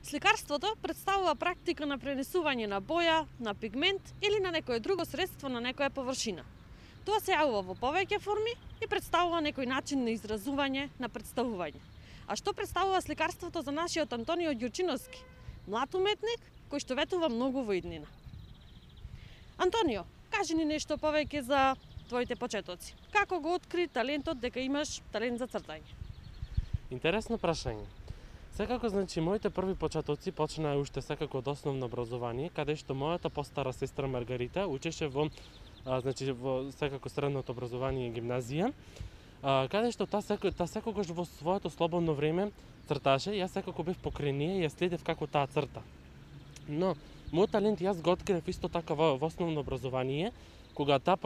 Сликарството представува практика на пренесување на боја, на пигмент или на некое друго средство на некоја површина. Тоа се јавува во повеќе форми и представува некој начин на изразување, на представување. А што представува сликарството за нашиот Антонио Ѓурчиновски, млад уметник кој што ветува многу во иднина? Антонио, кажи ни нешто повеќе за твоите почетоци. Како го откри талентот дека имаш талент за цртање? Интересно прашање. Секако, моите први почетоци почнаа уште секако од основно образование, каде што мојата постара сестра Маргарита учеше во секако средното образование и гимназија, каде што таа секогаш во своето слободно време црташе, јас секако бев покрај неа и ја следев како таа црта. Но мојот талент јас го открив исто така во основно образование, кога таа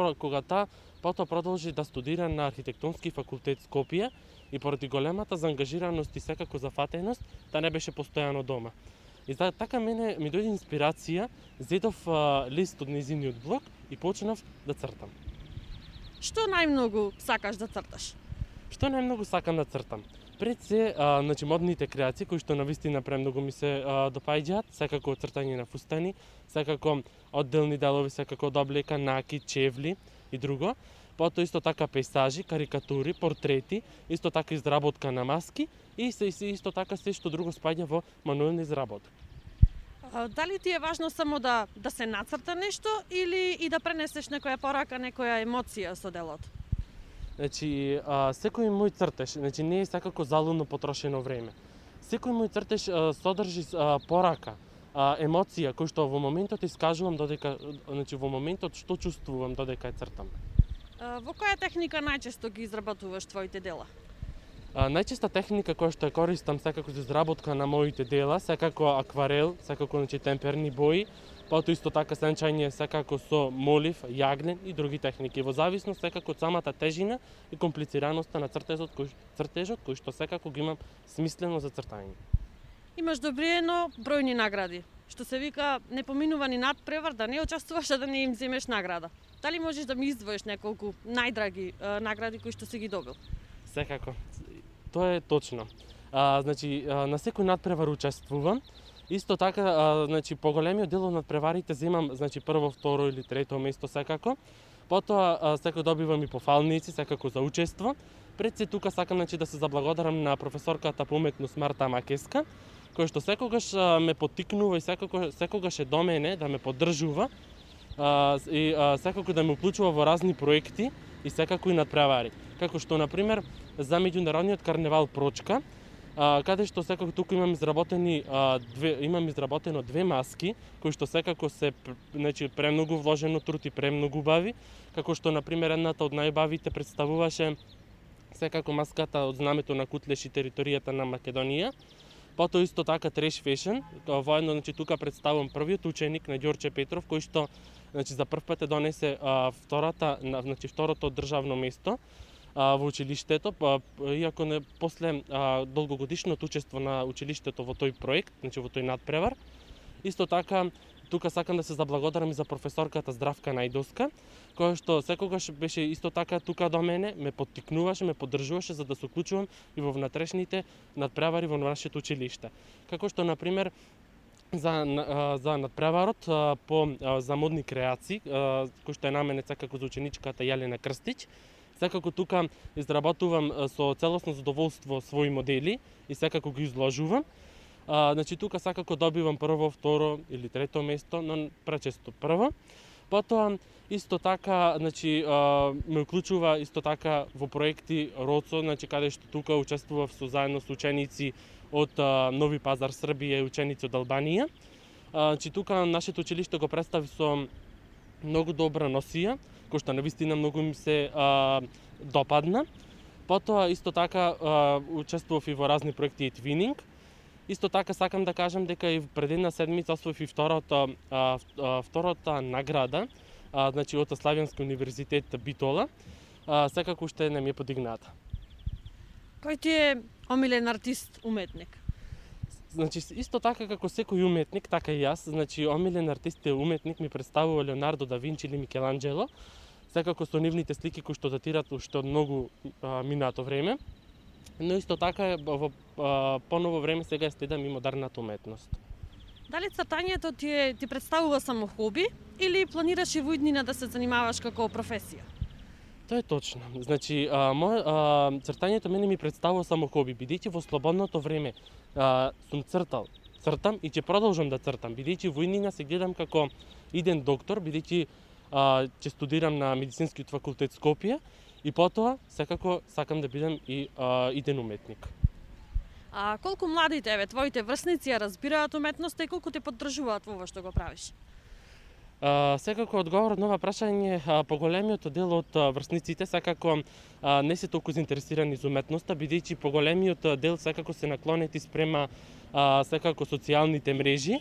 потоа продолжи да студира на архитектонски факултет Скопје и поради големата заангажираност и секако зафатеност, таа не беше постојано дома. И така мене ми дојде инспирација, зедов лист од нејзиниот блог и почнав да цртам. Што најмногу сакаш да црташ? Што најмногу сакам да цртам? Пред се, модните креации, кои што навистина премногу ми се допаѓаат, секако цртање на фустани, секако одделни делови, секако од облека, накид, чевли и друго. Потоа исто така пейзажи, карикатури, портрети, исто така изработка на маски и исто така се што друго спаѓа во мануелна изработка. Дали ти е важно само да се нацрта нешто или и да пренесеш некоја порака, некоја емоција со делото? Секој мој цртеж, не е секако залудно потрошено време. Секој мој цртеж содржи порака, емоција кој што во моментот искажувам додека, во моментот што чувствувам додека ја цртам. Во која техника најчесто ги изработуваш твоите дела? Најчеста техника која што ја користам секако за изработка на моите дела, секако акварел, секако темперни бои, потоа исто така сенчање секако со молив, јагнен и други техники, во зависност секако од самата тежина и комплицираноста на цртежот кој што секако го имам смислено за цртање. Имаш добриено бројни награди, што се вика не поминува ни надпревар да не учествуваш а да не им земеш награда. Дали можеш да ми издвоиш неколку најдраги награди кои што си ги добил? Секако. Тоа е точно. На секој надпревар учествувам. Исто така, поголемиот дел од надпреварите земам, прво, второ или трето место секако. Потоа секој добивам и пофалници секако за учество. Пред се тука сакам да се заблагодарам на професорката по уметност Марта Макеска, која што секогаш ме поттикнува и секогаш е до мене да ме поддржува и секако да ме уклучува во разни проекти и секако и надпревари. Како што, например, за меѓународниот карневал Прочка, каде што секако тука имам изработено две маски, кои што секако се премногу вложено труд и премногу убави, како што, например, едната од најубавите представуваше секако маската од знамето на Кутлеш и територијата на Македонија. Потоа исто така Треш Фешн, воедно тука представувам првиот ученик на Ѓорче Петров, кој што за прв пат донесе второто државно место во училиштето, иако после долгогодишното учество на училиштето во тој проект, во тој надпревар. Исто така, тука сакам да се заблагодарам и за професорката Здравка Најдоска, која што секогаш беше исто така тука до мене, ме поттикнуваше, ме поддржуваше за да се уклучувам и во внатрешните надпревари во нашето училиште. Како што, например, за надпреварот за модни креации, кој што е наменет секако за ученичката Јелена Крстич, секако тука изработувам со целосно задоволство своји модели и секако ги изложувам. Тука секако добивам прво, второ или трето место, но пречесто прво. Потоа исто така ме уклучува исто така во проекти РОЦО, каде што тука учествував заедно со ученици од Нови Пазар, Србија и ученици од Албанија. Тука нашето училиште го представи со многу добра носија, кој што навистина многу им се допадна. Потоа исто така учествував и во разни проекти и твининг. Исто така сакам да кажам дека и пред една седмица освоив и втората награда, од Славјански универзитет Битола, секако уште не ми е подигната. Кој ти е омилен артист, уметник? Исто така како секој уметник, така и јас, омилен артист и уметник ми представува Леонардо да Винчи или Микеланџело, секако со нивните слики кои што датираат уште од многу минато време. Но исто така во поново време сега следам и модерната уметност. Дали цртањето ти представува само хоби или планираш и во иднина да се занимаваш како професија? Тоа е точно. Значи, цртањето мене ми представува само хоби, бидејќи во слободното време сум цртам и ќе продолжам да цртам, бидејќи во иднина се гледам како иден доктор, бидејќи ќе студирам на медицинскиот факултет Скопје и потоа секако сакам да бидам и иден уметник. А колку младите, твоите врсници ја разбираат уметноста и колку те поддржуваат во ова што го правиш? Секако одговорот на ова прашање, поголемиот дел од врсниците секако не се толку заинтересирани за уметноста, бидејќи поголемиот дел секако се наклонети спрема секако социјалните мрежи.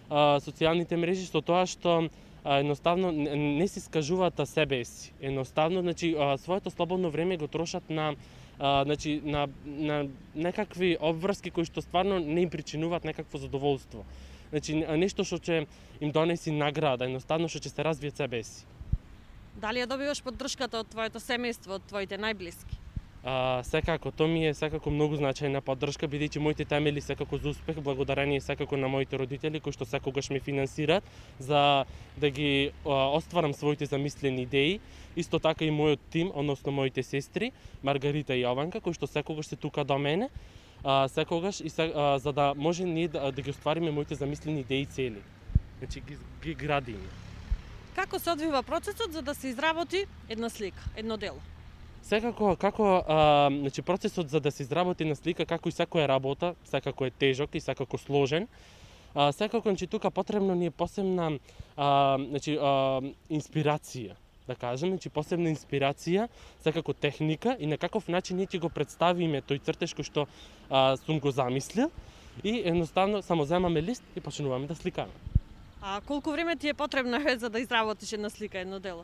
Социјалните мрежи со тоа што едноставно не се искажуваат себе си. Едноставно, значи, своето слободно време го трошат на некакви обврски кои што стварно не им причинуваат некакво задоволство. Значи, нешто што ќе им донеси награда, едноставно што ќе се развијат себе си. Дали ја добиваш поддршката од твоето семејство, од твоите најблиски? Секако, тоа ми е секако многу значајна поддршка, бидејќи моите темели секако за успех, благодарение секако на моите родители, кои што секогаш ме финансираат за да ги остварам своите замислени идеи. Исто така и мојот тим, односно моите сестри, Маргарита и Јованка, кои што секогаш се тука до мене, секогаш и за да може ние да ги оствариме моите замислени идеи и цели. Значи ги градиме. Како се одвива процесот за да се изработи една слика, едно дело? Секако, значи, процесот за да се изработи на слика, како и секоја работа, секако е тежок и секако сложен. Секако, значи, тука потребно ни е посебна инспирација, да кажем, значи посебна инспирација, секако техника и на каков начин ние ќе го представиме тој цртеж кој што сум го замислил и едноставно само земаме лист и почнуваме да сликаме. А колку време ти е потребно за да изработиш една слика, едно дело?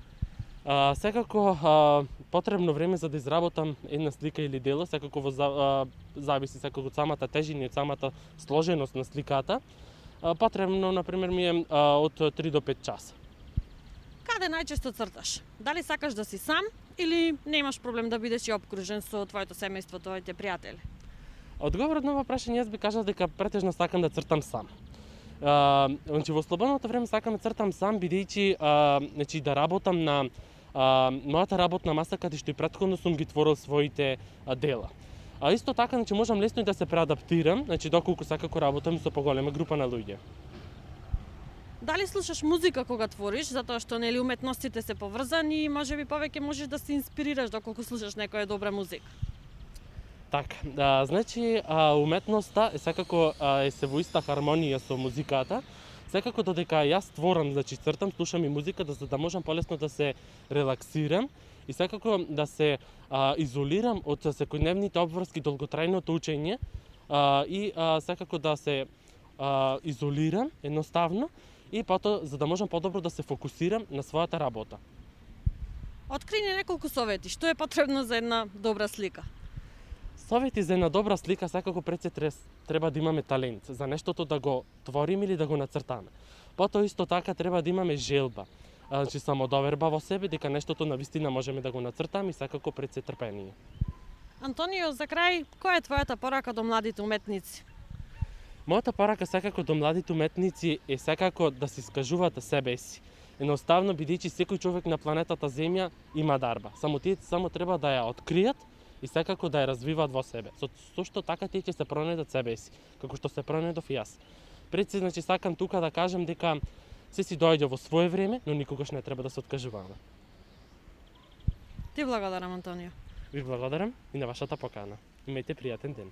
Секако потребно време за да изработам една слика или дело, секако зависи секако од самата тежина и од самата сложеност на сликата. Потребно, например, ми е од 3 до 5 часа. Каде најчесто црташ? Дали сакаш да си сам или не имаш проблем да бидеш и обкружен со твоето семејство, твоите пријатели? Одговорот на ова прашање јас би кажал дека претежно сакам да цртам сам. Значи во слободното време сакам да цртам сам, бидејќи значи да работам на мојата работна маса каде што и претходно сум ги творил своите дела. Исто така, значи можам лесно и да се преадаптирам, значи доколку секако работам со поголема група на луѓе. Дали слушаш музика кога твориш, затоа што нели уметностите се поврзани и можеби повеќе можеш да се инспирираш доколку слушаш некоја добра музика? Така, значи уметноста е секако се во иста хармонија со музиката. Секако додека јас творам, значи цртам, слушам и музика за да можам полесно да се релаксирам и секако да се изолирам од секојдневните обврски, долготрајното учење и секако да се изолирам едноставно и потоа за да можам подобро да се фокусирам на својата работа. Открини неколку совети, што е потребно за една добра слика? Совети за една добра слика секако пред се треба да имаме талент за нештото да го твориме или да го нацртаме. Потоа исто така треба да имаме желба, значи самодоверба во себе дека нештото навистина можеме да го нацртаме и секако пред се трпение. Антонио, за крај, која е твојата порака до младите уметници? Мојата порака секако до младите уметници е секако да се искажуваат себе си. Едноставно бидејќи секој човек на планетата Земја има дарба. Само тие треба да ја откријат и секако да ја развиваат во себе. Со што така тие ќе се пронајдат себе си, како што се пронајдов и јас. Пред се, значи, сакам тука да кажам дека се си доаѓа во свое време, но никогаш не треба да се откажуваме. Ти благодарам, Антонио. Ви благодарам и на вашата покана. Имајте пријатен ден.